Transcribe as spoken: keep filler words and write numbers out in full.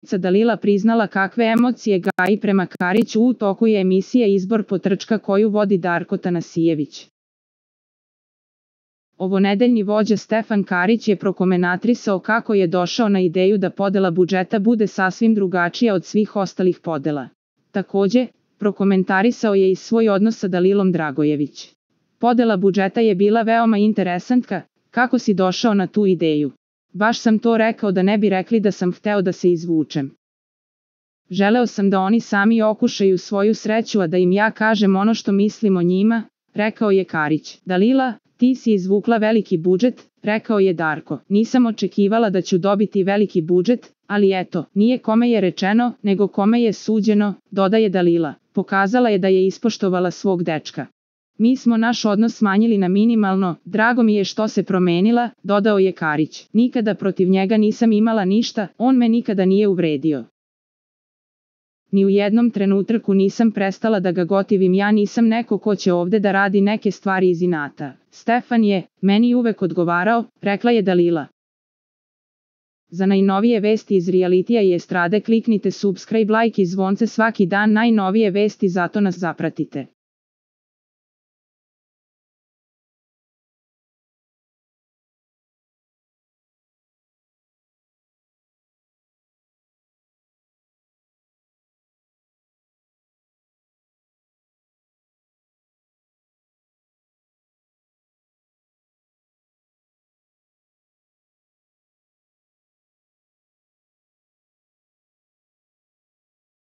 Dalila priznala kakve emocije gaji prema Kariću u toku je emisije Izbor potrčka koju vodi Darko Tanasijević. Ovonedeljni vođa Stefan Karić je prokomentrisao kako je došao na ideju da podela budžeta bude sasvim drugačija od svih ostalih podela. Takođe, prokomentarisao je i svoj odnos sa Dalilom Dragojević. Podela budžeta je bila veoma interesantna, kako si došao na tu ideju. Baš sam to rekao da ne bi rekli da sam hteo da se izvučem. Želeo sam da oni sami okušaju svoju sreću, a da im ja kažem ono što mislim o njima, rekao je Karić. Dalila, ti si izvukla veliki budžet, rekao je Darko. Nisam očekivala da ću dobiti veliki budžet, ali eto, nije kome je rečeno, nego kome je suđeno, dodaje Dalila. Pokazala je da je ispoštovala svog dečka. Mi smo naš odnos smanjili na minimalno, drago mi je što se promenila, dodao je Karić. Nikada protiv njega nisam imala ništa, on me nikada nije uvredio. Ni u jednom trenutku nisam prestala da ga gotivim, ja nisam neko ko će ovde da radi neke stvari iz inata. Stefan je, meni uvek odgovarao, rekla je Dalila. Za najnovije vesti iz realitija i estrade kliknite subscribe, like i zvonce svaki dan, najnovije vesti, zato nas zapratite.